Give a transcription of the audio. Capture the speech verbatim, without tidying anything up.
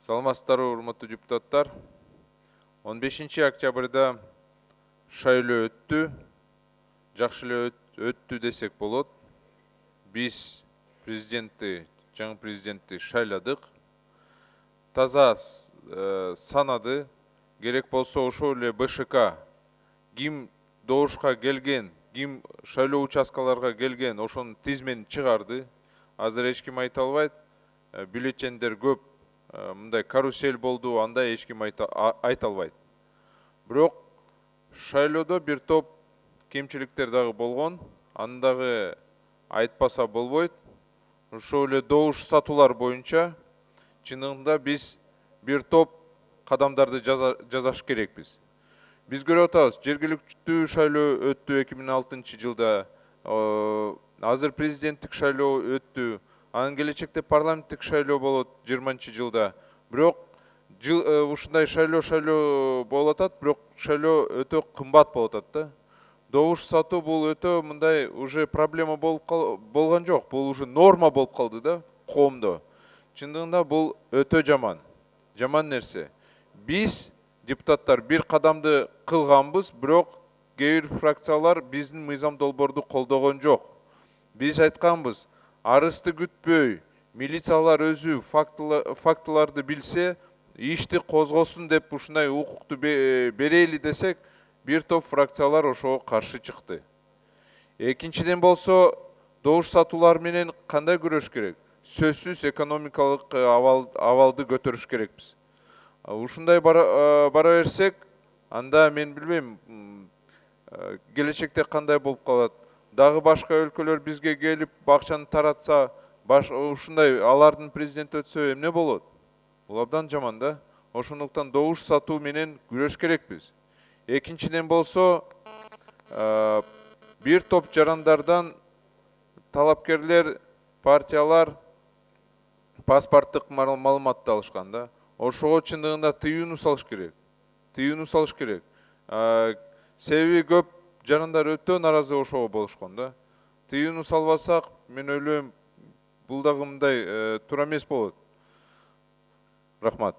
Саламатсыздарбы, урматтуу депутаттар. он бешинчи октябрда шайлоо өттү. Жакшы эле өттү десек болот. Биз президентти, жаңы президентти шайладык. Таза санады. Керек болсо ошол эле Б Ш К ким добушка келген, ким шайлоо участкаларга келген, ошонун тизмени чыгарды. Азыр эч ким айта албайт. Бюллетендер көп, мындай карусель болду, андай эч ким айта албайт. Бирок шайлоодо бир топ кемчиликтер дагы болгон. Аны дагы айтпаса болбойт. Ошол эле добуш сатуулар боюнча чындыгында биз бир топ кадамдарды жасаш керекпиз. Биз көрүп атабыз, жергиликтүү шайлоо өттү эки миң алтынчы жылда, азыр президенттик шайлоо өттү, анын келечекте парламенттик шайлоо болот жыйырманчы жылда. Бирок ушундай шайлоо шайлоо болуп атат, бирок шайлоо өтө кымбат болуп атат да. Добуш сатуу бул өтө мындай уже проблема болгон жок, бул уже норма болуп калды да коомдо. Чындыгында бул өтө жаман, жаман нерсе. Биз депутаттар бир кадамды кылганбыз, бирок кээ бир фракциялар биздин мыйзам долбоорду колдогон жок. Биз айтканбыз, арызды күтпөй, милициялар өзү фактыларды билсе, ишти козгосун деп ушундай укукту берели десек, бир топ фракциялар ошого каршы чыкты. Экинчиден болсо, добуш сатуулар менен кандай күрөш керек? Сөзсүз экономикалык абалды көтөрүш керекпиз. Ушундай бара берсек, анда мен билбейм, келечекте кандай болуп калат. Дагы башка өлкөлөр бизге келип бакчаны таратса, ушундай алардын президенти өтсө эмне болот? Бул абдан жаман да. Ошондуктан добуш сатуу менен күрөш керекпиз. Экинчиден болсо, бир топ жарандардан талапкерлер, партиялар паспорттук маалыматты алышкан да. Ошого чындыгында тыюуну салыш керек. Тыюуну салыш керек. Себеби көп жарандар өтө наразы ошого болушкон да. Тыюуну салбасак, мен ойлойм, бул дагы мындай туура эмес болот. Рахмат.